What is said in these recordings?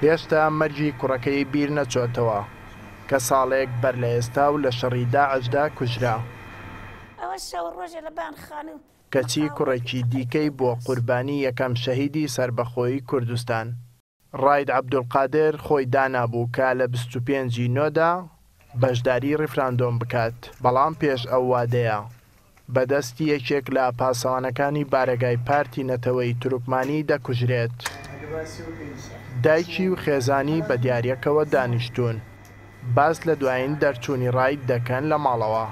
هێشتا مەرگی کوڕەکەی بیر نەچۆتەوە کە ساڵێک بەر لە ئێستا و لە شەڕی داعشدا کوژرا. کەچی کوڕێکی دیکەی بووە قوربانی یەکەم شەهیدی سەربەخۆیی کوردستان. ڕاید عەبدولقادر خۆی دانابوو کە لە 25 ی نۆدا بەشداری ڕیفراندۆم بکات، بەڵام پێش ئەو وادەیە بە دەستی یەکێک لە پاسەوانەکانی بارەگای پارتی نەتەوەیی تورکمانی دەکوژرێت. دایکی و خێزانی بە دیارییەکەوە دانیشتوون، باس لە دوایین دەرچوونی ڕاید دەکەن لە ماڵەوە.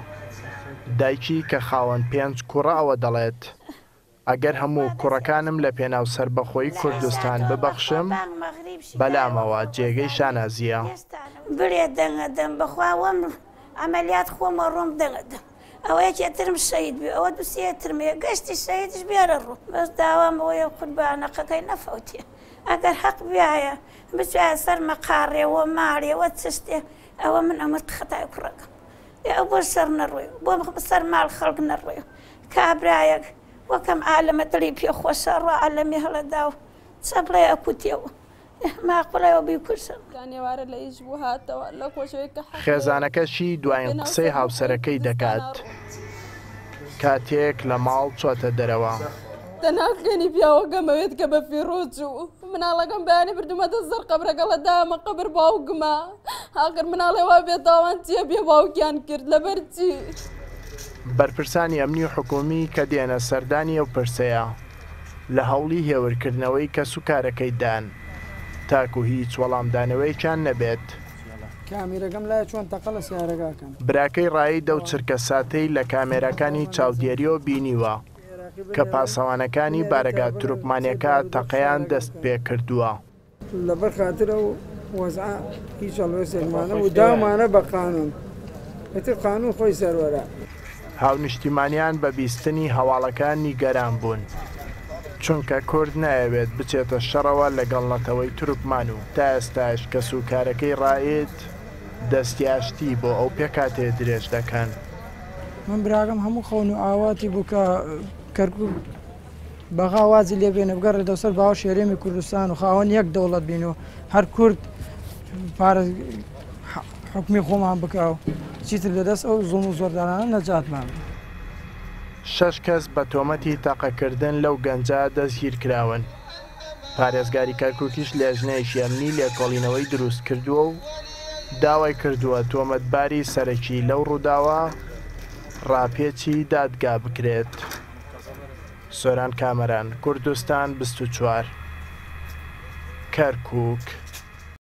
دایکی کە خاوەن پێنج کوڕە ئەوە دەڵێت، ئەگەر هەموو کوڕەکانم لە پێناو سەربەخۆیی کوردستان ببەخشم، بەلامەوە جێگەی شانازییە. بڵێ دەنگە دەم بەخوا وەم عەمەلیات خۆم ئەڕۆم دەنگە دەم ئەوە یەکێ ترم شەهید بێ ئەوە دوو سێ ترم هەیە گەشتی شەهیدیش بێرە ڕوو بەس داوام ئەوەیە قوربانەقەکەی نەفەوتێ ئەگەر هەق بیایە بچایە سەر مەقاڕێ وە ماڵێ وە چشتێ ئەوە من ئەمرد خەتای کوڕەکەم ئێ ئەو بۆ شەڕ نەڕۆی بۆ سەر ماڵ خەڵک نەڕۆی کابرایەک وەکەم عالەمە دڵی پێ خۆشە ڕوا عالەمی هەڵەدا و چەپڵەی ئەکوتێ و ماقوڵە و بیکوژن. خێزانەکەشی دوایین قسەی هاوسەرەکەی دەکات کاتێک لە ماڵ چۆتە دەرەوە. تەنها خوێنی پیاوەکەم ئەوێت کە بە فیڕۆ چوو. مناڵەکەم بەیانی بردومەتە سەر قەبرەکەڵە دامە قەبر باوکمە. ئاخر مناڵێ وا بێتاوان چییە بێ باوکیان کرد لەبەر چی؟ بەرپرسانی ئەمنی و حکوومی کە دێنە سەردانی ئەو پرسەیە، لە هەوڵی هێورکردنەوەی کەسوکارەکەی دان، تاکو هیچ وەڵامدانەوەیەکیان نەبێت. کامیرەکەم لایە چۆن تەقە لە سەیارەکە ئەکەن. براکەی ڕائید ئەو چرکەساتەی لە کامێراکانی چاودێرییەوە بینیوە کە پاسەوانەکانی بارەگا تورکمانیەکە تەقەیان دەستپێکردووە. لەبەر خاتر ئەو وەزعە هیچ هەڵوێستێکمان نەبوو، داومانە بە قانوون، ئیتر قانوون خۆی سەروەرە. هاونیشتیمانیان بە بیستنی هەواڵەکە نیگەران بوون، چونکە کورد نایەوێت بچێتە شەڕەوە لەگەڵ نەتەوەی تورکمان و تا ئێستاش کەسوکارەکەی ڕائید دەستی ئاشتی بۆ ئەو پێکهاتەیە درێژ دەکەن. من براکەم هەموو خەون و ئاواتی بوو کە کەرکوک بەغا وازی لێ بێنێ بگەڕێتەوە سەر باوەشی هەرێمی کوردستان و خاوەن یەک دەوڵەت بین و هەر کورد پارە حکومی خۆمان بکا و چیتر لەدەست ئەو زوڵم و زۆردارانە نەجاتمان بێ. شەش کەس بە تۆمەتی تەقەکردن لەو گەنجە دەستگیرکراون. پارێزگاری کەرکوکیش لێژنەیەکی ئەمنی لێکۆڵینەوەی دروستکردووە و داوای کردووە تۆمەتباری سەرەکی لەو ڕووداوە ڕاپێچی دادگا بکرێت. سۆران کامەران، کوردستان 24، کەرکوک.